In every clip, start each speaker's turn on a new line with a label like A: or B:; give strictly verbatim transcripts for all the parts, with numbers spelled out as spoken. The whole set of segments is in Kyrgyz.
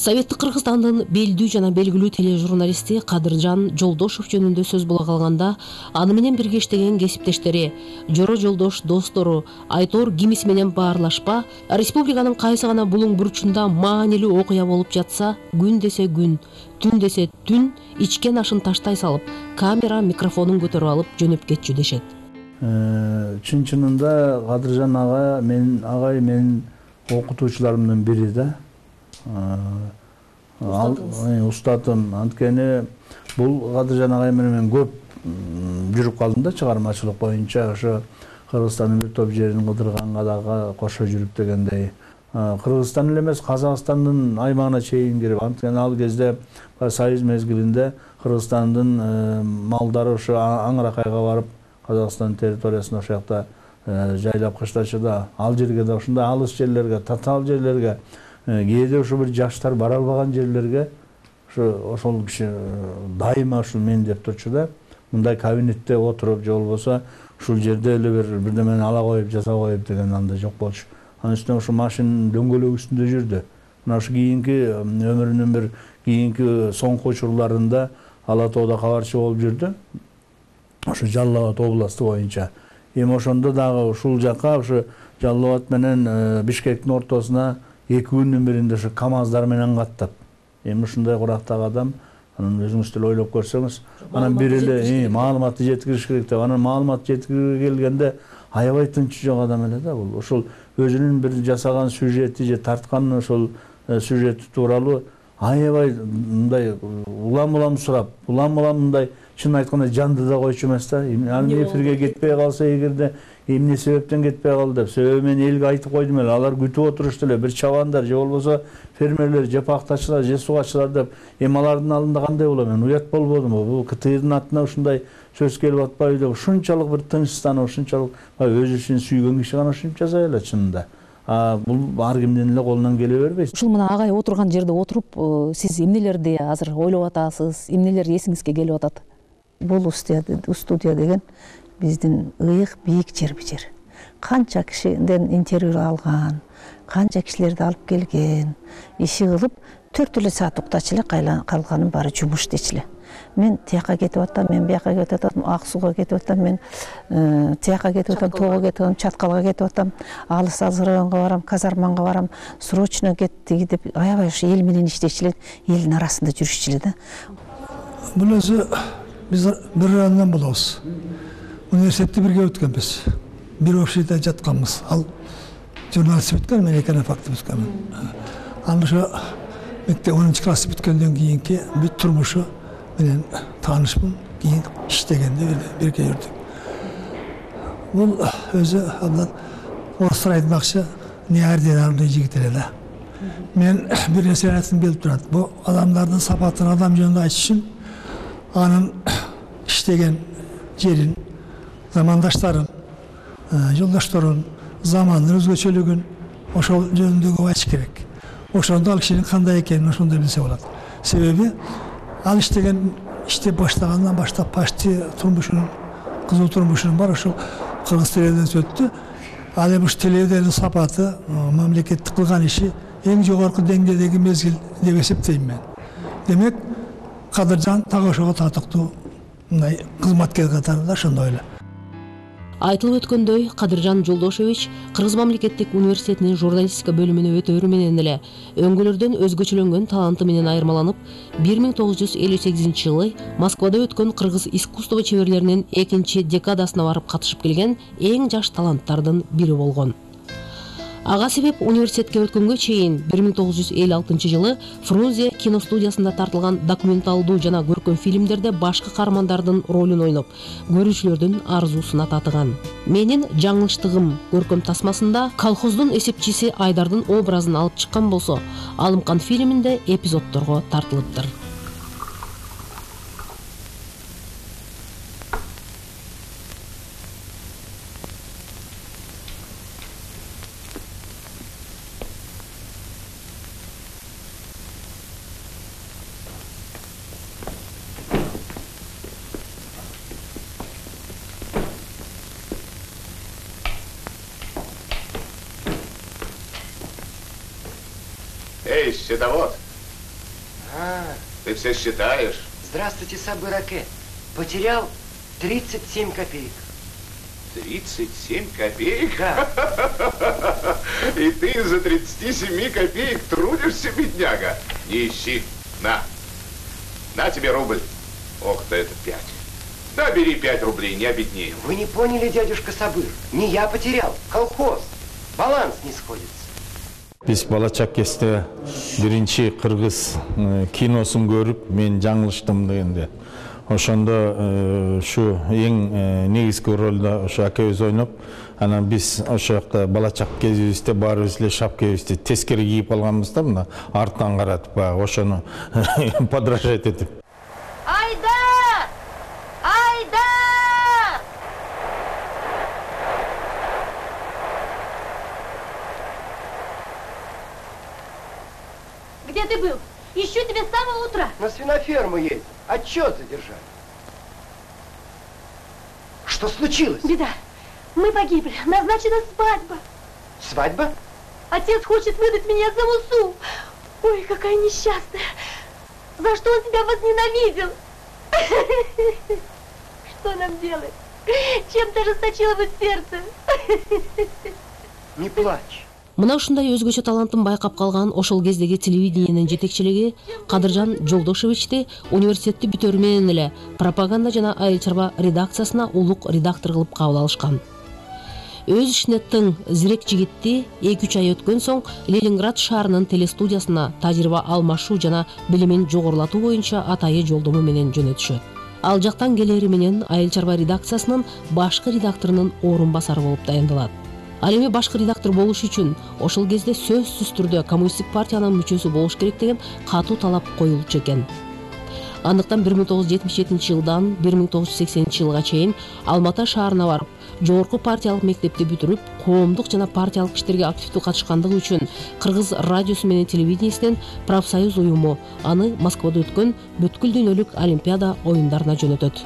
A: Советтик Кыргызстандын белдүү жана белгилүү тележурналисти Кадыржан Жолдошов жөнүндө сөз боло калганда, аны менен бирге иштеген кесиптештери, жора жолдош достору Айтор Гимис менен баарлашпа, республиканын кайсы гана булуң бурчунда маанилүү окуя болуп жатса, күн десе күн, түн десе түн, ичкен ашын таштай салып, камера микрофонун көтөрүп алып жөнөп кетчү дешет.
B: Чын чынында Кадыржан ага мен агай менин окутуучуларымдын бири да. Устатым. Анткени бул Кадыржан агай менен мен көп жүрүп калдым да чыгармачылык боюнча, ошо Кыргызстандын бир топ жерин кыдырганга дагы кошо жүрүп дегендей. Кыргызстан эле эмес, Казакстандын аймагына чейин кирип, анткени ал кезде союз мезгилинде Кыргызстандын малдары ошо Аңыракайга барып, Казакстан территориясына ошол жакта жайлап кыштачу да. Ал жерге да ушундай алыс жерлерге, татаал жерлерге, кээде ошо бир жаштар бара албаган жерлерге ошо ошол киши дайыма ушул мен деп турчу да. Мындай кабинетте отуруп, же болбосо ушул жерде эле бир бирдемени ала коюп, жаса коюп деген анда жок болчу. Анын үстүнө ошо машинанын дөңгөлөк үстүндө жүрдү. Мына ушу кийинки өмүрүнүн бир кийинки соңку учурларында Ала Тоодо кабарчы болуп жүрдү. Ошо Жалал Абад областы боюнча. Эми ошондо дагы ушул жака ошо Жалал Абад менен Бишкектин ортосуна эки күндүн биринде ошо КамАЗдар менен каттап. Эми ушундай курактагы адам, анан өзүңүз деле ойлоп көрсөңүз, анан бир эле маалыматты жеткириш керек деп, анан маалымат жеткирүүгө келгенде аябай тынчы жок адам эле да бул. Ошол өзүнүн бир жасаган сюжети же тарткан ошол сюжети тууралуу аябай мындай улам-улам сурап, улам-улам мындай чын айтканда жанды да койчу эмес да. Анын эфирге кетпей калса, эгерде эмне себептен кетпей калды деп, себеби мен элге айтып койдум эле, алар күтүп отурушту эле, бир чабандар же болбосо фермерлер, же пактачылар, же сугачылар деп. Эми алардын алдында кандай болом, мен уят болбодумбу? Бул КТИРдин атына ушундай сөз келип атпайбы деп, ушунчалык бир тынчстанып, ушунчалык өз ишин сүйгөн киши гана ушинтип жаза эле чынында. А бул ар кимдин эле колунан келе бербейт.
C: Ушул мына агай отурган жерде отуруп, сиз эмнелерди азыр ойлоп атасыз, эмнелер эсиңизге келип атат? Бул студия деген биздин ыйык бийик жер бу жер. Канча кишиден интервью алган, канча кишилерди алып келген, иши кылып төрт эле саат уктачу эле, калганын баары жумуш дечи эле. Мен тияка кетип атам, мен бияка кетип атам, Ак Сууга кетип атам, мен тияка кетип атам, Тоого кетип атам, Чаткалга кетип атам, алыс районго барам, казарманга барам, срочно кеттиги деп аябай ушу эл менен иштечи эле, элдин арасында жүрүшчү эле да.
D: Бул өзү биз бир райондан болобуз. Университетти бирге бүткөнбүз. Бир общежитиеде жатканбыз. Ал журналист бүткөн, мен экономист бүткөнмүн. Анан ошо мектеп онунчу класс бүткөндөн кийинки бүт турмушу менен таанышмын. Кийин иштегенде бирге жүрдүк. Бул өзү абдан орустар айтмакчы, неординарный жигит эле да. Мен бир нерсени айткым келип турат. Бул адамдардын сапатын, адам жөнүндө айтыш үчүн анын иштеген жерин, замандаштарын, жолдошторун, замандын өзгөчөлүгүн ошол жөнүндө көп айтыш керек. Ошондо ал кишинин кандай экенин ошондо билсе болот. Себеби ал иштеген иштеп баштагандан баштап почти турмушунун, кызуу турмушунун бар ошол кыргыз телевидениесинде өттү. Ал эми ушу телевидениянын сапаты, мамлекеттик кылган иши эң жогорку деңгээлдеги мезгил деп эсептейм мен. Демек, Кадыржан так ошого татыктуу мындай кызматкер катарында ошондой эле.
A: Айтылып өткөндөй, Кадыржан Жолдошевич Кыргыз мамлекеттик университетинин журналистика бөлүмүнө өтөөрү менен эле өңгөлөрдөн өзгөчөлөнгөн таланты менен айырмаланып, бир миң тогуз жүз элүү сегизинчи жылы Москвада өткөн кыргыз искусство чеберлеринин экинчи декадасына барып катышып келген эң жаш таланттардын бири болгон. Ага себеп университетке өткөнгө чейин бир миң тогуз жүз элүү алтынчы жылы Фрунзе киностудиясында тартылган документалдуу жана көркөм фильмдерде башкы каармандардын ролун ойноп, көрүүчүлөрдүн арзуусуна татыган. Менин жаңылыштыгым көркөм тасмасында колхоздун эсепчиси Айдардын образын алып чыккан болсо, Алымкан фильминде эпизоддорго тартылыптыр.
E: Эй, счетовод,
F: А,
E: ты все считаешь?
F: здравствуйте, Сабыр Аке. Потерял тридцать семь копеек.
E: тридцать семь копеек?
F: Да.
E: И ты из-за тридцати семи копеек трудишься, бедняга? Не ищи. На. На тебе рубль. Ох-то это пять. Да, бери пять рублей, не обеднеем.
F: Вы не поняли, дядюшка Сабыр. Не я потерял, колхоз. Баланс не сходится.
G: Биз балачак кезде биринчи кыргыз киносун көрүп мен жаңылыштым дегенде. Ошондо ушу эң негизги ролду ошо акебиз ойноп, анан биз ошол жакта балачак кезибизде баарыбыз эле шапкебизди тескери кийип алганбыз да, мына арттан каратып баягы ошону подражать этип.
H: Айдар! Айдар! Где ты был? Ищу тебя с самого утра.
F: На свиноферму едет. Отчет задержали. Что случилось?
H: Беда. Мы погибли. Назначена свадьба.
F: Свадьба?
H: Отец хочет выдать меня за Мусу. Ой, какая несчастная. За что он тебя возненавидел? Что нам делать? Чем ты ожесточила его сердце?
F: Не плачь.
A: Мына ушундай өзгөчө талантын байкап калган ошол кездеги телевидениенин жетекчилиги Кадыржан Жолдошевичти университетти бүтөрү менен эле пропаганда жана айыл чарба редакциясына улук редактор кылып кабыл алышкан. Өз ишине тың зирек жигитти эки үч ай өткөн соң Ленинград шаарынын телестудиясына тажрыйба алмашуу жана билимин жогорулатуу боюнча атайы жолдомо менен жөнөтүшөт. Ал жактан келери менен айыл чарба редакциясынын башкы редакторунун орун басары болуп дайындалат. Ал эми башкы редактор болуш үчүн ошол кезде сөзсүз түрдө коммунисттик партиянын мүчөсү болуш керек деген катуу талап коюлчу экен. Андыктан бир миң тогуз жүз жетимиш жетинчи жылдан бир миң тогуз жүз сексенинчи жылга чейин Алматы шаарына барып, жогорку партиялык мектепти бүтүрүп, коомдук жана партиялык иштерге активдүү катышкандыгы үчүн Кыргыз радиосу менен телевидениесинен профсоюз уюму аны Москвада өткөн бүткүл дүйнөлүк Олимпиада оюндарына жөнөтөт.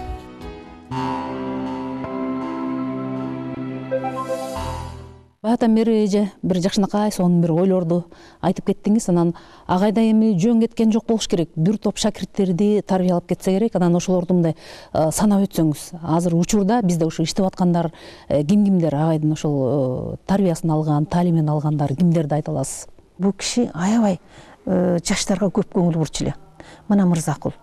C: Баягыдан бери эже бир жакшынакай сонун бир ойлорду айтып кеттиңиз. Анан агайда эми жөн кеткен жок болуш керек. Бир топ шакирттерди тарбиялап кетсе керек. Анан ошолорду мындай санап өтсөңүз. Азыр учурда бизде ушу иштеп аткандар ким-кимдер, агайдын ошол тарбиясын алган, таалимин алгандар кимдерди айта аласыз?
I: Бул киши аябай жаштарга көп көңүл бурчу эле. Мына Мырзакул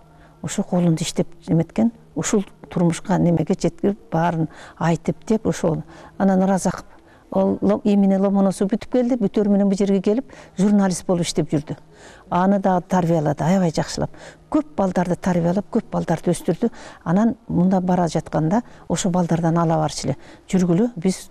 I: ушу колунду иштеп эметкен, ушул турмушка немеге жеткирип баарын айтып деп ошол. Анан Разаков ол эмине Ломоносу бүтүп келди, бүтөр менен бу жерге келип журналист болуп иштеп жүрдү. Аны дагы тарбиялады, аябай жакшылап. Көп балдарды тарбиялап, көп балдарды өстүрдү. Анан мында бара жатканда ошо балдардан ала барчу эле. Жүргүлө биз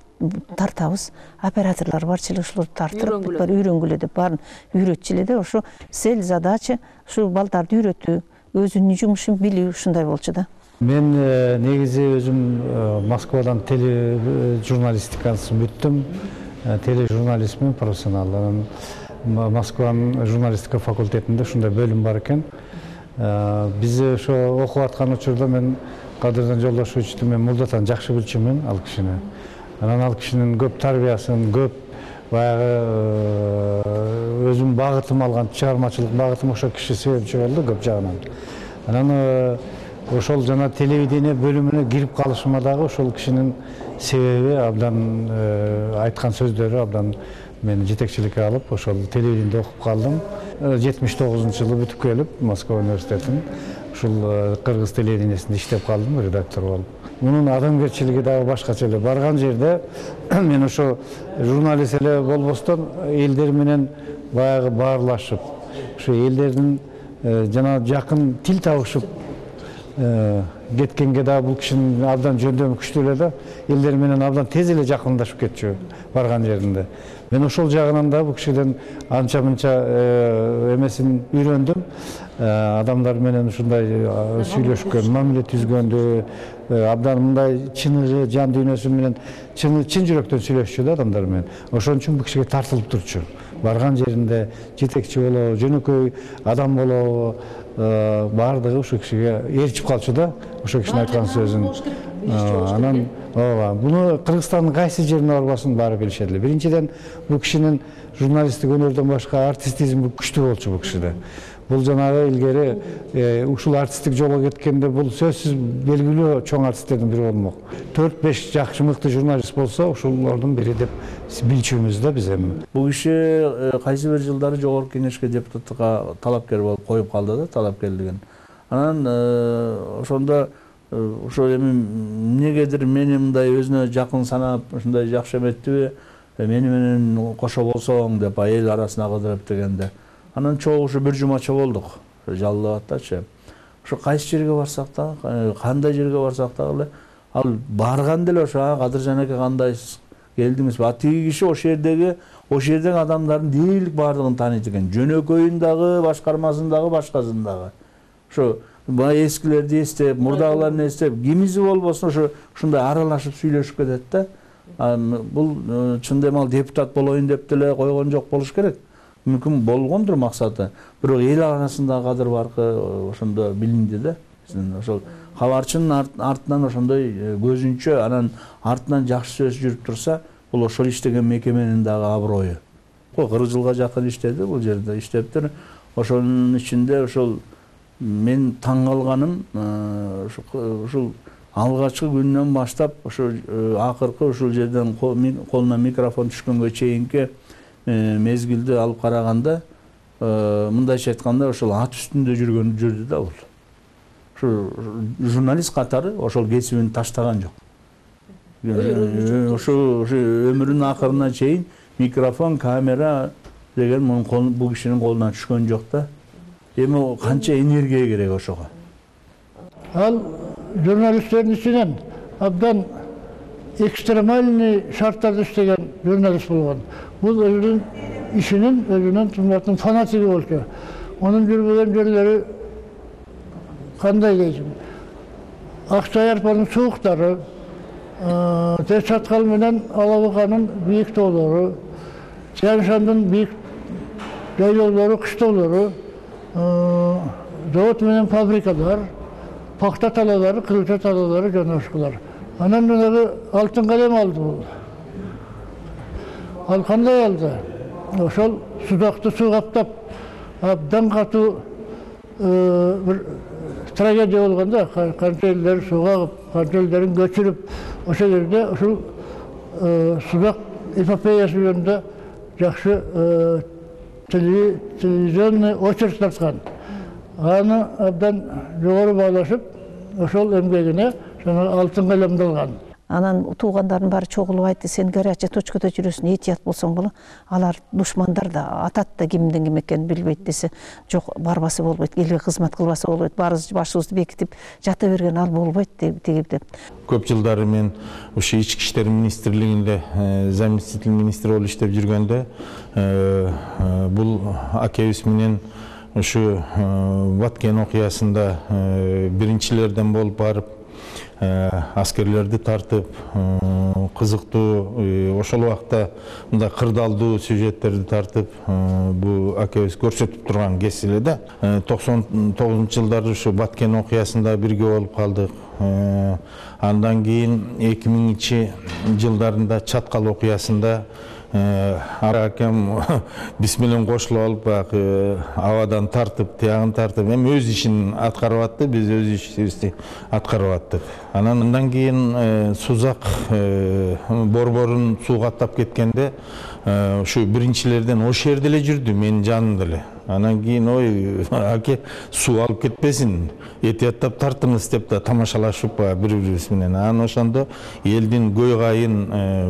I: тартабыз, операторлор барчу эле, ошолорду тартырып, үйрөнгүлө деп баарын үйрөтчү эле да, ошо цель, задача ушу балдарды үйрөтүү, өзүнүн жумушун билүү, ушундай болчу да.
G: Мен негизи өзүм Москвадан теле журналистикасын бүттүм. Тележурналистмин профессионал. Москванын журналистика факультетинде ушундай бөлүм бар экен. Биз ошо окуп аткан учурда мен Кадыржан Жолдошевичти мен мурдатан жакшы билчүмүн ал кишини. Анан ал кишинин көп тарбиясын, көп баягы өзүм багытым алган, чыгармачылык багытым ошо киши себепчи болду көп жагынан. Анан ошол жана телевидение бөлүмүнө кирип калышыма дагы ошол кишинин себеби абдан айткан сөздөрү абдан мени жетекчиликке алып, ошол телевидениеде окуп калдым. жетимиш тогузунчу жылы бүтүп келип Москва университетин ушул кыргыз телевидениесинде иштеп калдым, редактор болуп. Мунун адамгерчилиги дагы башкача эле. Барган жерде мен ошо журналист эле болбостон элдер менен баягы баарлашып, ошо элдердин жана жакын тил табышып кеткенге да бул кишинин абдан жөндөмү күчтүү эле да, элдер менен абдан тез эле жакындашып кетчү барган жеринде. Мен ошол жагынан да бул кишиден анча-мынча эмесин үйрөндүм. Адамдар менен ушундай сүйлөшкөн, мамиле түзгөндү, абдан мындай чыныгы, жан дүйнөсү менен чын чын жүрөктөн сүйлөшчү да адамдар менен. Ошон үчүн бул кишиге тартылып турчу. Барган жеринде жетекчи болобу, жөнөкөй адам болобу, баардыгы ушул кишиге ээрчип калчу да, ошол кишинин айткан сөзүн. Анан ооба, буну Кыргызстандын кайсы жерине барбасын баары билишет эле. Биринчиден, бул кишинин журналисттик өнөрдөн башка артистизми күчтүү болчу бул кишиде. Бул жанагы илгери ушул артисттик жолго кеткенде бул сөзсүз белгилүү чоң артисттердин бири болмок. төрт беш жакшы мыкты журналист болсо, ушулордун бири деп билчүбүз да биз эми.
B: Бул киши кайсы бир жылдары жогорку кеңешке депутаттыкка талапкер болуп коюп калды да, талапкерлигин. Анан ошондо ошо эми эмнегедир мени мындай өзүнө жакын санап, ушундай жакшы эметтиби, мени менен кошо болсоң деп эл арасына кыдырып дегенде. Анан чогуу ушу бир жумача болдук, жаллап аттачы. Ошо кайсы жерге барсак да, кандай жерге барсак дагы ал барганда эле ошо Кадыржан аке кандайсыз, келдиңизби? А тиги киши ошол жердеги, ошол жердеги адамдардын дээрлик баардыгын тааныйт экен. Жөнөкөйүн дагы, башкармасын дагы, башкасын дагы. Ошо бай эскилерди эстеп, мурдагыларын эстеп, кимизи болбосун ошо ушундай аралашып сүйлөшүп кетет да. Бул чын демал депутат болоюн деп деле койгон жок болуш керек. Мүмкүн болгондур максаты. Бирок эл арасында кадыр баркы ошондо билинди да. Ошол кабарчынын артынан ошондой көзүнчө, анан артынан жакшы сөз жүрүп турса, бул ошол иштеген мекеменин дагы аброю. кырк жылга жакын иштеди бул жерде, иштептир. Ошонун ичинде ошол мен таң калганым ушул алгачкы күнүнөн баштап ошо акыркы ушул жерден колуна микрофон түшкөнгө чейинки мезгилди алып караганда, мындайча айтканда ошол ат үстүндө жүргөн жүрдү да бул. Ошо журналист катары ошол кесибин таштаган жок. Ошо өмүрүнүн акырына чейин микрофон, камера деген бул кишинин колунан түшкөн жок да. Эми канча энергия керек ошого.
J: Ал журналисттердин ичинен абдан экстремальный шарттарда иштеген журналист болгон. Бул өзүнүн ишинин, өзүнүн кызматынын фанатиги болчу. Онун жүрбөгөн жерлери кандай дейсиң? Акчай арпанын сууктары, Тез чаткал менен Алабыканын бийик тоолору, Тяншандын бийик жайлоолору, кыштоолору, завод менен фабрикалар, пахта талаалары, кызылча талаалары жана ушулар. Анан жанагы алтын калем алды бул. Ал кандай алды? Ошол судакты суу каптап, абдан катуу бир трагедия болгондо, канча элдер сууга калып, канча элдерин көчүрүп, ошол жерде ушул судак эпопеясы жөнүндө жакшы телевизионный очерк тарткан. Аны абдан жогору баалашып, ошол эмгегине алтын калемди алган.
I: Анан туугандардын баары чогулуп айтты, сен горячий точкада жүрөсүң, этият болсоң боло. Алар душмандар да атат да кимдин ким экенин билбейт десе, жок барбасы болбойт, элге кызмат кылбасы болбойт, баарыбыз башыбызды бекитип жата берген ал болбойт деп деп.
K: Көп жылдары мен ушу ички иштер министрлигинде заместитель министр болуп иштеп жүргөндө бул акебиз менен ушу Баткен окуясында биринчилерден болуп барып, аскерлерди тартып, кызыктуу ошол убакта мындай кырдаалдуу сюжеттерди тартып, бул акебиз көрсөтүп турган кез эле да. токсон тогузунчу жылдары ушу Баткен окуясында бирге болуп калдык. Андан кийин эки миңинчи жылдарында Чаткал окуясында ара акем биз менен кошулуп алып, баягы абадан тартып, тиягын тартып, эми өз ишин аткарып атты, биз өз ишибизди аткарып аттык. Анан андан кийин Сузак борборун суу каттап кеткенде, ушу биринчилерден ошол жерде эле жүрдү, менин жанымда эле. Анан кийин ой, аке суу алып кетпесин, этияттап тартыңыз деп да тамашалашып бири-бирибиз менен. Анан ошондо элдин көй кайын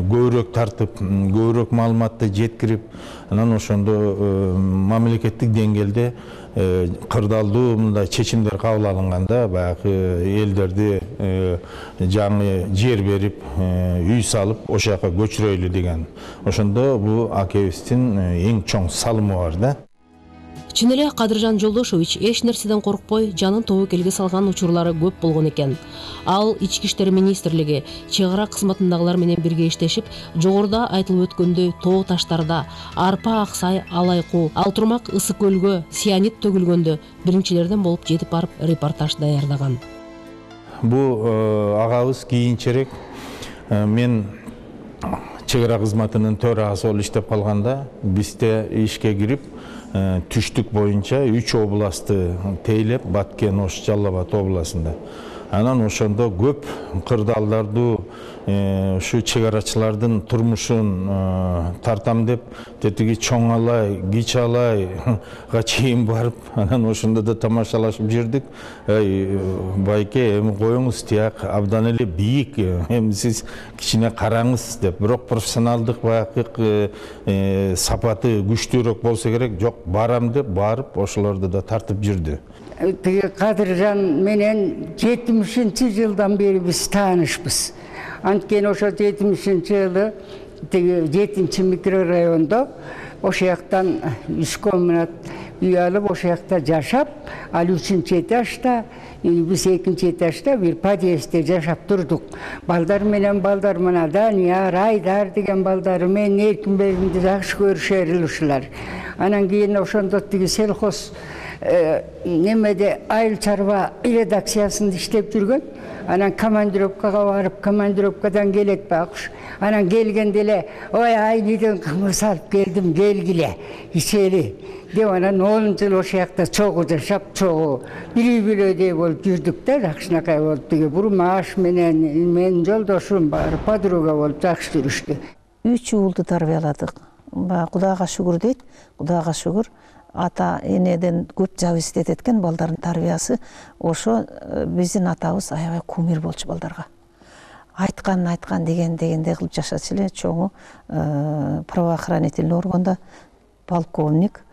K: көбүрөөк тартып, көбүрөөк маалыматты жеткирип, анан ошондо мамлекеттик деңгээлде кырдаалдуу мындай чечимдер кабыл алынганда, баягы элдерди жаңы жер берип, үй салып, ошол жака көчүрөйлү деген. Ошондо бул акебиздин эң чоң салымы бар да.
A: Чын эле Кадыржан Жолдошевич эч нерседен коркпой жанын тобокелге салган учурлары көп болгон экен. Ал Ички иштер министрлиги чек ара кызматындагылар менен бирге иштешип, жогоруда айтылып өткөндөй тоо таштарда арпа аксай алайкуу, ал турмак ысык көлгө сианид төгүлгөндө биринчилерден болуп жетип барып репортаж даярдаган.
K: Бу агабыз кийинчерээк мен чек ара кызматынын төрагасы болуп иштеп калганда бизде ишке кирип түштүк боюнча үч областты тейлеп, Баткен, Ош, Жалал Абад областында. Анан ошондо көп кырдаалдарды ушу чек арачылардын турмушун тартам деп, тетиги Чоң Алай, Кичи Алайга чейин барып, анан ошондо да тамашалашып жүрдүк. Эй, байке, эми коюңуз, тияк абдан эле бийик, эми сиз кичине караңыз деп. Бирок профессионалдык баягы сапаты күчтүүрөөк болсо керек. Жок, барам деп барып, ошолорду да тартып жүрдү.
L: Тиги Кадыржан менен жетимишинчи жылдан бери биз таанышпыз. Анткени ошо жетимишинчи жылы тиги жетинчи микрорайондо ошол жактан үч комнат үй алып, ошол жакта жашап, ал үчүнчү этажда, биз экинчи этажда бир подъездде жашап турдук. Балдар менен балдар мына Данияр, Айдар деген балдары менин эркинбегимди жакшы көрүшөр ушулар. Анан кийин ошондо тиги селхоз немеде айыл чарба редакциясында иштеп жүргөн. Анан командировкага барып, командировкадан келет багыш. Анан келгенде эле, ой, айниден кымыз алып келдим, келгиле, ичели деп анан он жыл ошол жакта чогуу жашап, чогуу бири бүлөдөй болуп жүрдүк да, жакшынакай болуп. Тиги Бурмаш менен менин жолдошум баары подруга болуп жакшы жүрүштү.
I: Үч уулду тарбияладык. Кудайга шүгүр дейт, Кудайга шүгүр. Ата энеден көп жабыс этет экен балдардын тарбиясы. Ошо биздин атабыз аябай кумир болчу балдарга. Айткан айткан деген дегендей кылып жашачу эле. Чоңу правоохранительный органда полковник,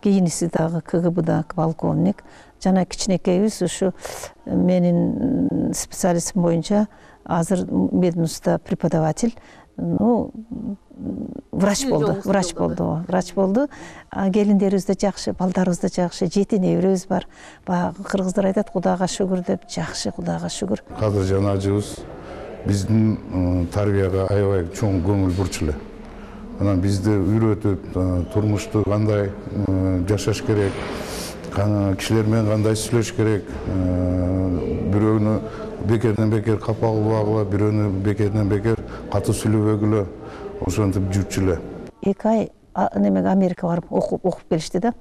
I: кийиниси дагы К Г Б'да полковник. Жана кичинекейибиз ушу менин специалистим боюнча азыр мединститутта преподаватель, ну врач болду, врач болду, врач болду. Келиндерибиз да жакшы, балдарыбыз да жакшы, жети неберебиз бар. Баягы кыргыздар айтат, Кудайга шүгүр деп, жакшы, Кудайга шүгүр.
M: Кадыржан ажыбыз биздин тарбияга аябай чоң көңүл бурчу эле. Анан бизди үйрөтүп, турмушту кандай жашаш керек, кишилер менен кандай сүйлөш керек, бирөөнү бекерден бекер капа кылбагыла, бирөөнү бекерден бекер катуу сүйлөбөгүлө, ошентип жүрчү эле. эки ай
I: немеге Америка барып окуп окуп келишти да.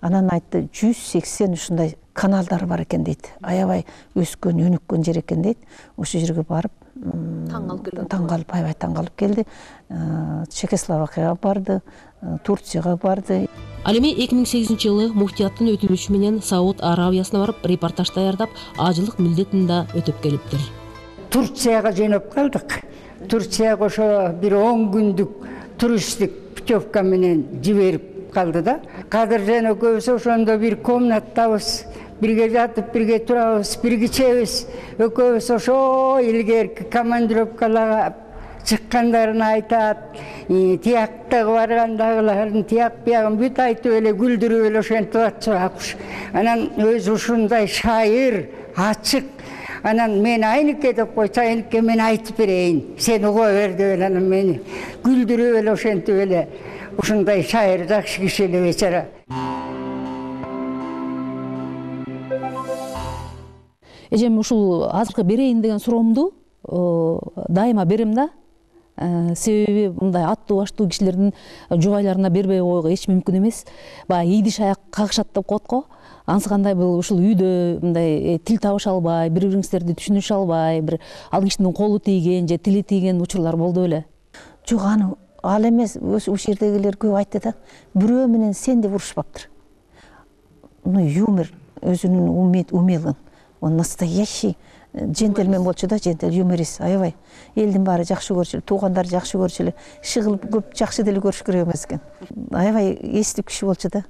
I: Анан айтты, жүз сексен ушундай каналдар бар экен дейт. Аябай өскөн, өнүккөн жер экен дейт. Ошол жерге барып таң калып келди. Таң калып, аябай таң калып келди. Чехословакияга барды, Турцияга барды.
A: Ал эми эки миң сегизинчи жылы муфтияттын өтүнүчү менен Сауд Арабиясына барып репортаж даярдап, ажылык милдетин да өтөп келиптир.
L: Турцияга жөнөп калдык. Турцияга ошо бир он күндүк туристтик путевка менен жиберип калды да. Кадыржан экөөбүз ошондо бир комнаттабыз. Бирге жатып, бирге турабыз, бирге ичебиз. Экөөбүз ошо илгерки командировкаларга чыккандарын айтат, тияктагы баргандагыларын тияк биягын бүт айтып эле күлдүрүп эле ошентип атчыбакыш. Анан өзү ушундай шайыр, ачык. Анан мен айныкке деп койсо, айныкке мен айтып берейин, сен уга бер деп эле анан мени күлдүрүп эле ошентип эле ушундай шайыр, жакшы киши эле бечара.
C: Эжем ушул азыркы берейин деген суроомду дайыма берем да. Себеби мындай аттуу баштуу кишилердин жубайларына бербей койгого эч мүмкүн эмес. Баягы ийдиш аяк кагышат деп коет го. Ансы кандай бул ушул үйдө мындай тил табыша албай, бири-бириңиздерди түшүнүшө албай, бир ал кишинин колу тийген же тили тийген учурлар болду беле?
I: Жок, аны ал эмес, ушул жердегилер көп айтты да. Бирөө менен сен деп урушпаптыр. Ну, юмор өзүнүн умелын. Он настоящий джентльмен болчу да, джентльмен, юморист, аябай. Элдин баары жакшы көрчү эле, туугандар жакшы көрчү эле, шыгылып көп жакшы деле көрүш керек эмес экен. Аябай эстик киши болчу да.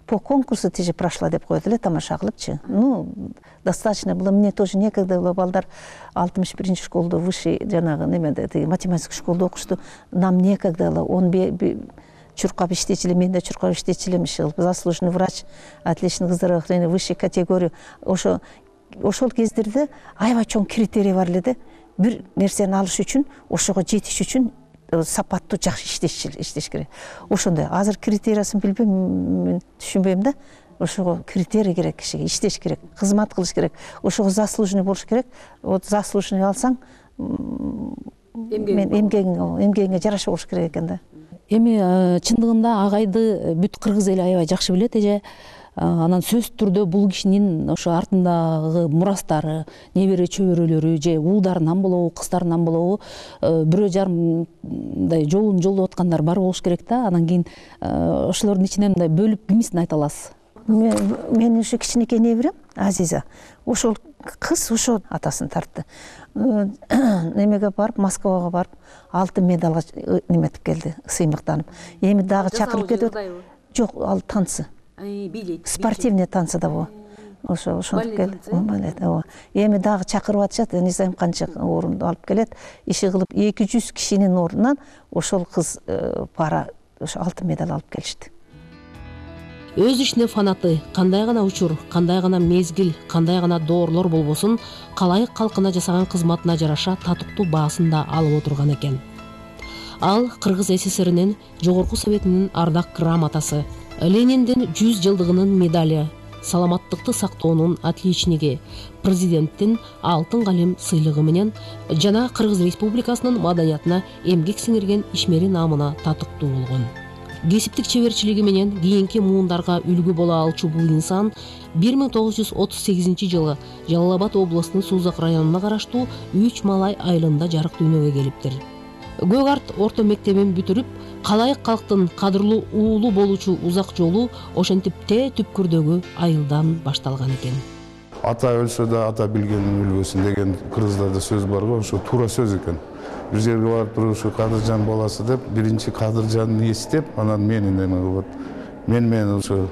I: По конкурсу ты же прошла деп коет эле, тамаша кылыпчы. Ну, достаточно было, мне тоже некогда было, балдар алтымыш биринчи школдо высший жанагы немеде, математический школдо окушту. Нам некогда было, он чуркап иштечү элем, мен да чуркап иштечү элем, иши кылып заслуженный врач, отличный выздоровление высшей категории. Ошо ошол кездерде аябай чоң критерий бар эле да. Бир нерсени алыш үчүн, ошого жетиш үчүн сапаттуу жакшы иштеш иштеш керек. Ошондой. Азыр критериясын билбейм, мен түшүнбөйм да. Ошого критерий керек, кишиге иштеш керек, кызмат кылыш керек. Ошого заслуженный болуш керек. Вот заслуженный алсаң, мен эмгегиңе, эмгегиңе жараша болуш керек экен да.
C: Эми чындыгында агайды бүт кыргыз эли аябай жакшы билет эже. Анан сөзсүз түрдө бул кишинин ошо артындагы мурастары, небере чөбөрөлөрү же уулдарынан болобу, кыздарынан болобу, бирөө жарымдай жолун жолдоп аткандар бар болуш керек да. Анан кийин ошолордун ичинен мындай бөлүп кимисин айта аласыз?
I: Мен ушу кичинекей неберем Азиза. Ошол кыз ошо атасын тартты. Немеге барып, Москвага барып, алтын медалга неметип келди, сыймыктанып. Эми дагы чакырып кетет. Жок, ал танцы. Спортивный танцы да бу. Ошо ошентип келди. Эми дагы чакырып атышат, не знаю канча орунду алып келет. Иши кылып эки жүз кишинин ордунан ошол кыз пара ошо алтын медаль алып келишти.
A: Өз ишине фанаты, кандай гана учур, кандай гана мезгил, кандай гана доорлор болбосун, калайык калкына жасаган кызматына жараша татыктуу баасын да алып отурган экен. Ал Кыргыз СССРинин Жогорку Советинин ардак грамотасы, Лениндин жүз жылдыгынын медали, саламаттыкты сактоонун отличниги, президенттин алтын калем сыйлыгы менен жана Кыргыз Республикасынын маданиятына эмгек сиңирген ишмери намына татыктуу болгон. Кесиптик чеберчилиги менен кийинки муундарга үлгү боло алчу бул инсан бир миң тогуз жүз отуз сегизинчи жылы Жалал Абад областынын Сузак районуна караштуу Үч Малай айылында жарык дүйнөгө келиптир. Көк арт орто мектебин бүтүрүп, калайык калктын кадырлуу уулу болуучу узак жолу ошентип те түпкүрдөгү айылдан башталган экен.
M: Ата өлсө да ата билгенин үлгөсүн деген кыргыздарда сөз бар го, ошо туура söz экен. Бир жерге барып туруп ушу Кадыржан баласы деп, биринчи Кадыржанды эстеп, анан мени неме кылып, мен мен ошо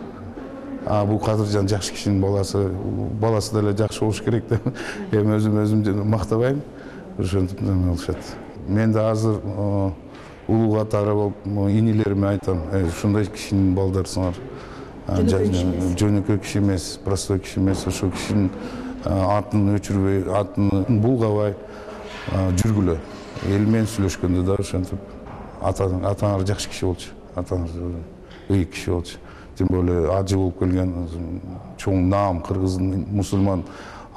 M: а бул Кадыржан жакшы кишинин баласы, баласы деле жакшы болуш керек деп, эми өзүм өзүмдү мактабайм, ошентип неме кылышат. Мен да азыр улуу катары болуп, инилериме айтам, ушундай кишинин балдарсыңар. Жөнөкөй киши эмес, простой киши эмес, ошол кишинин атын өчүрбөй, атын булгабай жүргүлө. Эл менен сүйлөшкөндө да ошентип атаңар жакшы киши болчу, атаңар ыйык киши болчу. Тем более ажы болуп келген чоң наам, кыргыздын мусулман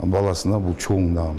M: баласына бул чоң наам.